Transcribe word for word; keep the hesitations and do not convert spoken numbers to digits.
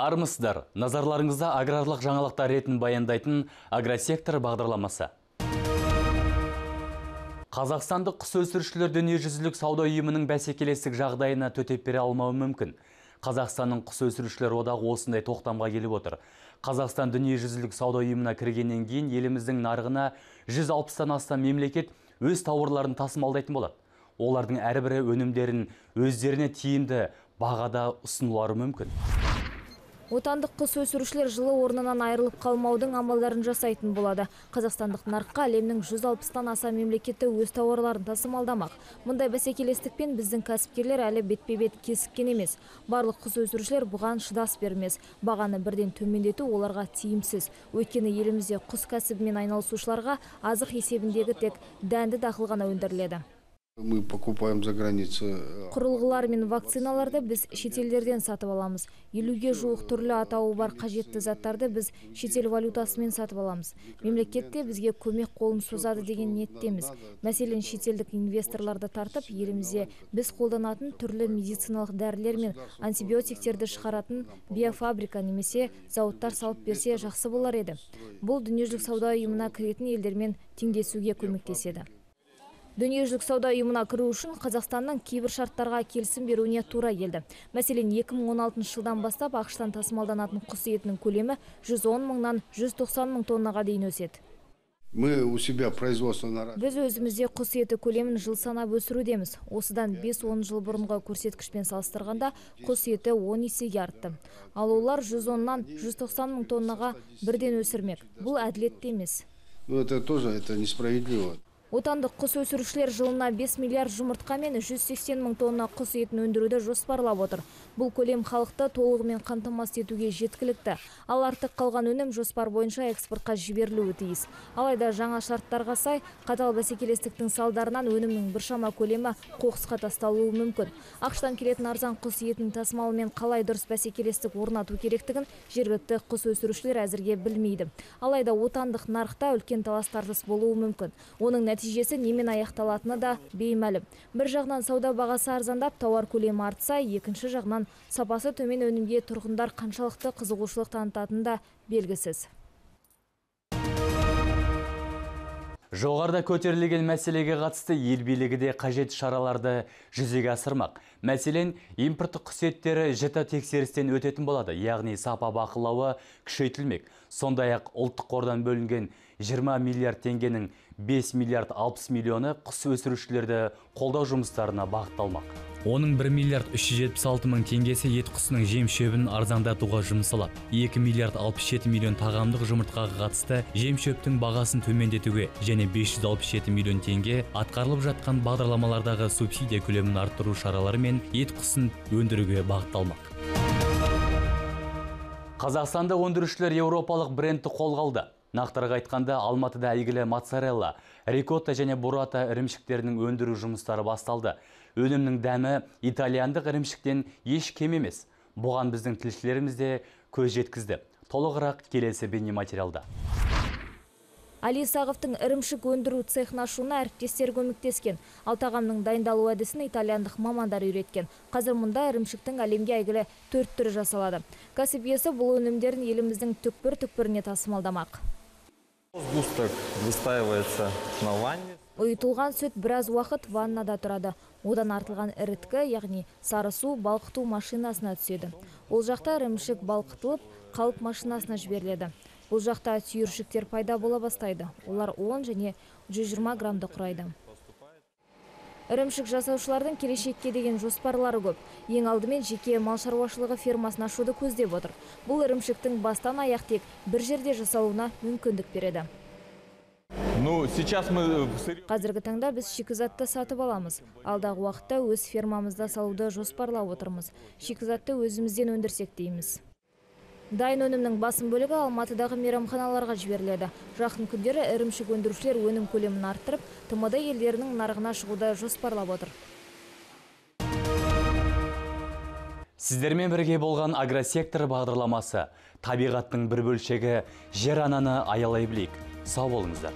Армысыздар, назарларыңызда аграрлық жаңалықтар ретін баяндайтын агросектор бағдарламасы. Қазақстандық құс өсірушілер дүниежүзілік сауда ұйымының бәсекелестік жағдайына төтеп бере алмауы мүмкін. Қазақстанның құс өсірушілер одағы осындай тоқтамға келіп отыр. Қазақстан дүниежүзілік сауда ұйымына кіргеннен кейін еліміздің нарығына жүз алпыстан астам мемлекет өз тауарларын тасымалдайтын болады. Олардың әрбірі өнімдерін өздеріне тиімді бағада ұсынылары мүмкін. Отандық құс өсірушілер жылы орнынан айырылып қалмаудың амалдарын жасайтын болады. Қазақстандық нарыққа әлемнің жүз алпыстан аса мемлекеті өз тауарларын тасымалдамақ. Мұндай бәсекелестікпен біздің кәсіпкерлер әлі бетпе-бет кесіккен емес. Барлық құс өсірушілер бұған шыдас бермес. Бағаны бірден төмендету оларға тиімсіз. Өйткені елімізде құс кәсібімен айналысушыларға азық есебіндегі тек дәнді дақыл ғана өндіріледі. Мы покупаем за границу. Құрылғылар мен вакциналарды біз шетелдерден сатып аламыз. елуге жуық түрлі атауы бар қажетті заттарды біз шетел валютасымен сатып аламыз. Мемлекетте бізге көмек қолын созады деген ниеттеміз. Мәселен, шетелдік инвесторларды тартып, елімізде біз қолданатын түрлі медициналық дәрілер мен антибиотиктерді шығаратын биофабрика немесе зауыттар салып берсе жақсы болар еді. Бұл дүниежүзілік сауда ұйымына кіретін елдермен теңдесуге көмектеседі. Дүниежүзілік сауда ұйымына кіру үшін Қазақстанның кейбір шарттарға келісім беруіне тура келді. Мәселен, екі мың он алтыншы жылдан бастап ақштан тасымалданатын құс етінің көлемі жүз он мыңнан жүз тоқсан мың тоннаға дейін өседі. Мы у себя производство. Біз өзімізде құс еті көлемін жыл санап өсірудеміз. Осыдан бес-он жыл бұрынғы көрсеткішпен салыстырғанда құс еті он есеге артты. Ал олар жүз оннан жүз тоқсан мың тоннаға бірден өсірмек. Бұл әділетті емес. Ну, это тоже это несправедливо. Отандық құс өсірушілер жылына бес миллиард жұмыртқа мен жүз сексен мың тонна құс етін өндіруді жоспарлап отыр. Бұл көлем халықты толығымен қамтамасыз етуге жеткілікті. Ал артық қалған өнім жоспар бойынша экспортқа жіберілуі тиіс. Алайда жаңа шарттарға сай, қатал бәсекелестіктің салдарынан өнімнің біршама көлемі қоқысқа тасталуы мүмкін. Ақштан келетін арзан құс етінің тасымалымен қалай дұрыс бәсекелестік орнату керектігін жергілікті құс өсірушілер әзірге білмейді. Алайда отандық нарықта үлкен талас-тартыс болуы мүмкін. Оның нәтижесі немен аяқталатыны да беймәлім. Бір жағынан сауда бағасы арзандап, тауар көлемі артса, екінші жағынан сапасы төмен өнімге тұрғындар қаншалықты қызығушылық танытатыны да белгісіз. Жоғарыда көтерілген мәселеге қатысты ел билігі де қажет шараларды жүзеге асырмақ. Мәселен, импорттық құс еттері жіті тексерістен өтетін болады, яғни сапа бақылауы күшейтілмек. Сондай-ақ ұлттық қордан бөлінген жиырма миллиард теңгенің бес миллиард алпыс миллионы құс өсірушілерді қолдау жұмыстарына бағытталмақ. Оның бір миллиард үш жүз жетпіс алты мың теңгесі ет құсының жем шөбін арзандатуға жұмсалады. екі миллиард алпыс жеті миллион тағамдық жұмыртқаға қатысты жем шөптің бағасын төмендетуге және бес жүз алпыс жеті миллион теңге атқарылып жатқан бағдарламалардағы субсидия көлемін арттыру шаралары мен ет құсын өндіруге бағытталмақ. Қазақстанда өндірушілер еуропалық брендті қолға алды. Нақтырақ айтқанда, Алматыда әйгілі моцарелла, рикотта және бурата ірімшіктерінің өндіру жұмыстары басталды. Өнімнің дәмі итальяндық ірімшіктен еш кем емес. Бұған біздің тілшілеріміз де көз жеткізді. Толығырақ келесі бейнематериалда. Али Сағовтың ірімшік өндіру цехын ашуына әріптестер көмектескен. Ал тағамның дайындалу әдісін итальяндық мамандар үйреткен. Қазір мұнда ірімшіктің әлемге әйгілі төрт түрі жасалады. Кәсіп иесі бұл өнімдерін еліміздің түкпір-түкпіріне тасымалдамақ. Сгусток выстаивается на ванне. Ұйытылған сүт біраз уақыт ваннада тұрады. Одан артылған іріткі, яғни сары су балқыту машинасына түседі. Ол жақта ірімшік балқытылып, қалып машинасына жіберіледі. Бұл жақта түйіршіктер пайда бола бастайды. Олар он және жүз жиырма граммды құрайды. Ірімшік жасаушылардың келешекке деген жоспарлары көп. Ең алдымен жеке мал шаруашылығы фермасын ашуды көздеп отыр. Бұл ірімшіктің бастан аяқ тек бір жерде жасалуына мүмкіндік береді. Ну, сейчас мы... Қазіргі таңда біз шикізатты сатып аламыз. Алдағы уақытта өз фермамызда салуды жоспарлап отырмыз. Шикізатты өзімізден өндірсек дейміз. Дайын өнімнің басым бөлігі Алматыдағы мейрамханаларға жіберіледі. Жақын күндері ірімшік өндірушілер өнім көлемін арттырып, тмд елдерінің нарығына шығуды жоспарлап отыр. Сіздермен бірге болған агросектор бағдарламасы. Табиғаттың бір бөлшегі жер ананы аялай білейік. Сау болыңыздар.